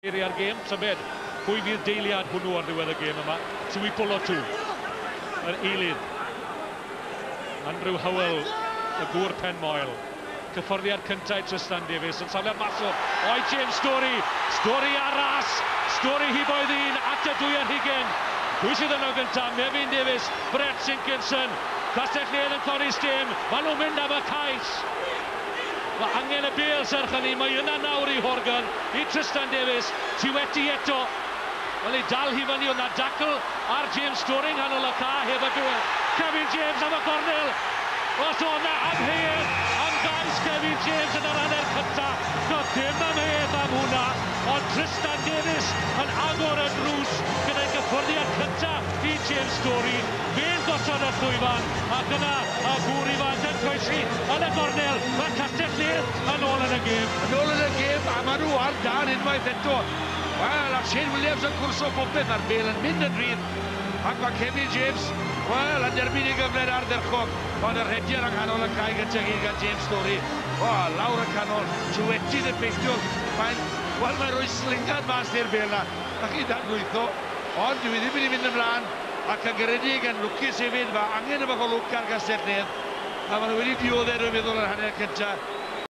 Eiriau'r gêm, tybed pwy fydd deiliad hwnnw ar ddiwedd y gêm yma. Tuipulotu, yr eilydd. Andrew Howell, y gŵr pen moel. Cyffyrddiad cyntaf i Tristan Davies yn safle'r maswr. O'i James Storey, Storey ar ras, Storey hiboedd un at y 22. Pwy sydd yno gyntaf? Mefin Davies, Brett Sinkinson. Castell-nedd yn codi stêm, maen nhw'n mynd am y cais. Mae angen y bêl serch hynny, mae yna nawr i Horgan, i Tristan Davies, Tiweti eto. Wel, ei dal hi fyny, oedd 'na dacl ar James Storey nghanol y ca heb y bêl. Kevin James am y gornel. Os oedd 'na amheuaeth am gais Kevin James yn yr hanner cynta, doedd dim amheuaeth am hwnna, ond Tristan Davies yn agor y drws gyda'i gyffyrddiad cynta i James Storey. Fe'n gosod y llwyfan, ac yna y gŵr ifanc yn croesi yn y gornel. Mae Castell-nedd yn ôl yn y gêm. Yn ôl yn y gêm, a maen nhw ar dân unwaith eto. Wel, a Shane Williams yn cwrso popeth, mae'r bêl yn mynd yn rhydd. Ac mae Kevin James, wel, yn derbyn ei gyfle'n ardderchog, ond y rhediad yng nghanol y cae gyntaf gyd gan James Storey. O, lawr y canol, Tiweti'n effeithiol. Mae'n, wel, mae'n rhoi slingad mas i'r bêl 'na. Na chi dadlwytho, ond dyw hi ddim wedi mynd ymlaen, ac yn garedig, yn lwcus hefyd, mae angen y bach o lwc ar Gastell-nedd, a maen nhw wedi dioddef, dwi'n meddwl, yr hanner cyntaf.